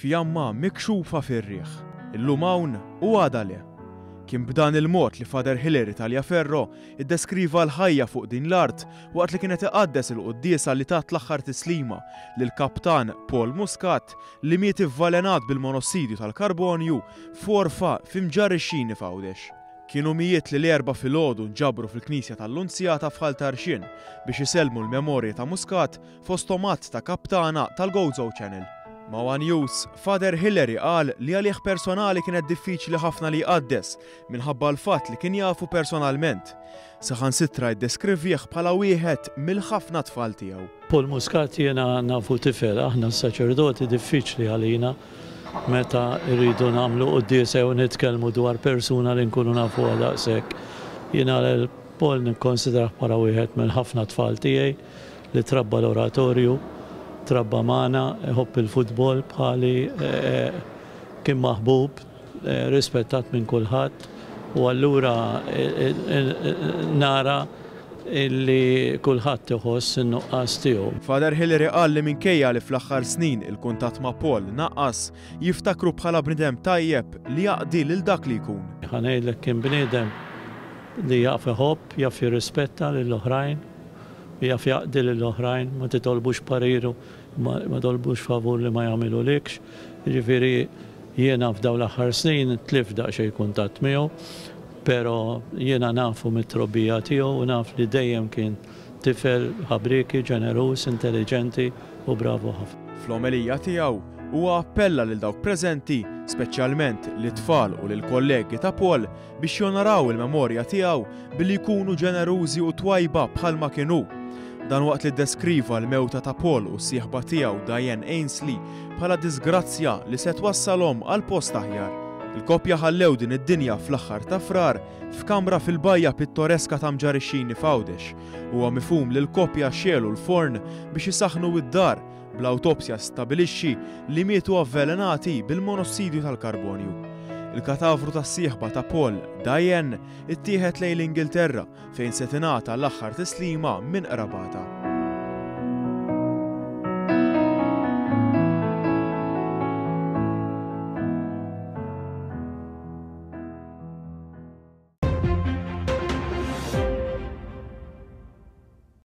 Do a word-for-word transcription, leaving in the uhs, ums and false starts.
Fjamma mikxufa fir-riħ. Illum hawn u għada le. Kien b'dan il-mod li Father Hilary Tagliaferro iddeskriva l-ħajja fuq din l-art waqt li kienet iqaddes il-quddiesa li tat l-aħħar tislima lil kaptan Paul Muscat li miet ivvelenat bil-monossidju tal-karbonju f'għorfa f'Imġarr ix-Xini f'Għawdex. Kienu mijiet li l-Erbgħa filgħodu nġabru fil-Knisja tal-Lunzjata f'Ħal Tarxien biex isellmu l-memorja ta' Muscat, fosthom għadd ta' kaptana tal-Gozo Channel. Ma' One News, Father Hilary qal li għalih personali kienet diffiċli ħafna li jqaddes minħabba l-fatt li kien jafu personalment. Saħansitra iddeskrivih bħala wieħed mill-ħafna tfal tiegħu. Paul Muscat jiena nafu tifel. Aħna s-saċerdoti diffiċli għalina meta rridu nagħmlu quddiesa u nitkellmu dwar persuna li nkunu nafu daqshekk. Jiena lil Paul nikkonsidrah bħala wieħed mill-ħafna tfal tiegħi li trabba l-oratorju, trabba magħna, iħobb il-futbol bħali, eh, kien maħbub, eh, rispettat minn kulħadd u allura eh, nara illi kulħadd iħoss in-nuqqas tiegħu. Father Hilary qal li minkejja li fl-aħħar snin il-kuntatt ma' Paul naqas, jiftakru bħala bniedem tajjeb li jaqdi lil dak li jkun. Ħa ngħidlek, kien bniedem li jaf iħobb, jaf jirrispetta lill-oħrajn, jaf jaqdi lill-oħrajn, ma titolbux pariru, ma titolbux favur li ma jagħmilhulikx. Jiġifieri jiena f'dawn l-aħħar snin tlift daqsxejn kuntatt miegħu, pero jiena nafu mit-trobbija tiegħu u naf li dejjem kien tifel ħabrieki, ġeneruż, intelligenti u bravu ħafna. Fl-omelija tiegħu huwa appella lil dawk preżenti, speċjalment lit-tfal u lil kollegi ta' Paul, biex jonoraw il-memorja tiegħu billi jkunu ġenerużi u twajba bħalma kienu. Dan waqt li deskriva l-mewta ta' Paul u s-sieħba tiegħu Diane Ainsley bħala disgrazzja li se twassalhom għal post aħjar. Il-koppja ħallew din id-dinja fl-aħħar ta' Frar f'kamra fil-bajja pittoreska ta' Mġarr ix-Xini f'Għawdex. Huwa mifhum li l-koppja xegħlu l-forn biex isaħnu id-dar, bl-awtopsja stabilixxi li mietu avvelenati bil-monossidju tal-karbonju. Il-katavru tas-sieħba ta' Paul, Diane, ittieħed lejn l-Ingilterra fejn se tingħata l-aħħar tislima minn qrabatha.